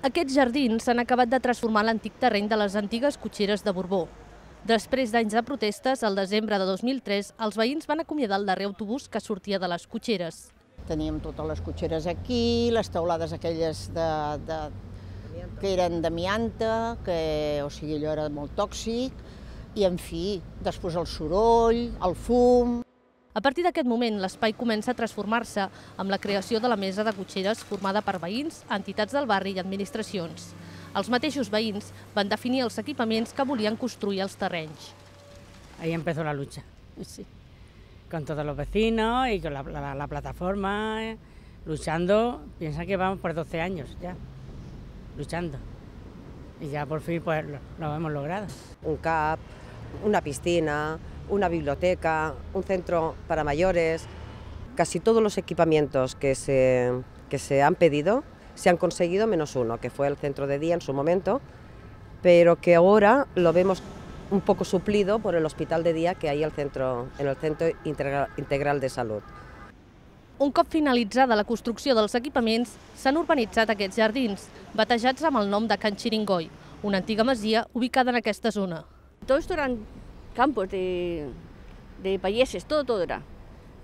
Aquests jardins s'han acabat de transformar en l'antic terreny de les antigues cotxeres de Borbó. Després d'anys de protestes, al desembre de 2003, els veïns van acomiadar el darrer autobús que sortia de les cotxeres. Teníem totes les cotxeres aquí, les teulades aquelles que eren d'amianta, o sigui, allò era molt tòxic, i en fi, després el soroll, el fum. A partir d'aquest moment, l'espai comença a transformar-se amb la creació de la mesa de cotxeres formada per veïns, entitats del barri i administracions. Els mateixos veïns van definir els equipaments que volien construir als terrenys. Ahí empezó la lucha, sí. Con todos los vecinos y con la plataforma, luchando. Piensa que vamos por 12 años ya, luchando. Y ya por fin pues lo hemos logrado. Un CAP, una piscina, una biblioteca, un centro para mayores. Casi todos los equipamientos que se han pedido se han conseguido, menos uno, que fue el centro de día en su momento, pero que ahora lo vemos un poco suplido por el hospital de día que hay en el Centro Integral de Salut. Un cop finalitzada la construcció dels equipaments, s'han urbanitzat aquests jardins, batejats amb el nom de Can Xiringoi, una antiga masia ubicada en aquesta zona. Todo esto eran campos de payeses, todo era.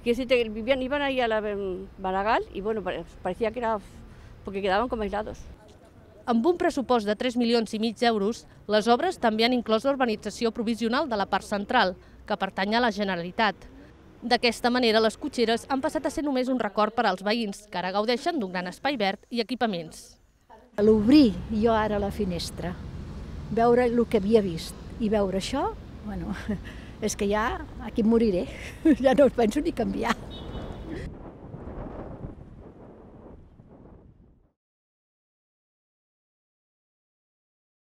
Iban ahí a la Maragall y bueno, parecía que era porque quedaven com aislados. Amb un pressupost de 3,5 milions d'euros, les obres també han inclòs la urbanització provisional de la part central, que pertany a la Generalitat. D'aquesta manera, les cotxeres han passat a ser només un record per als veïns, que ara gaudeixen d'un gran espai verd i equipaments. A l'obrir jo ara la finestra, veure el que havia vist i veure això, bueno, és que ja aquí em moriré, ja no us penso ni canviar.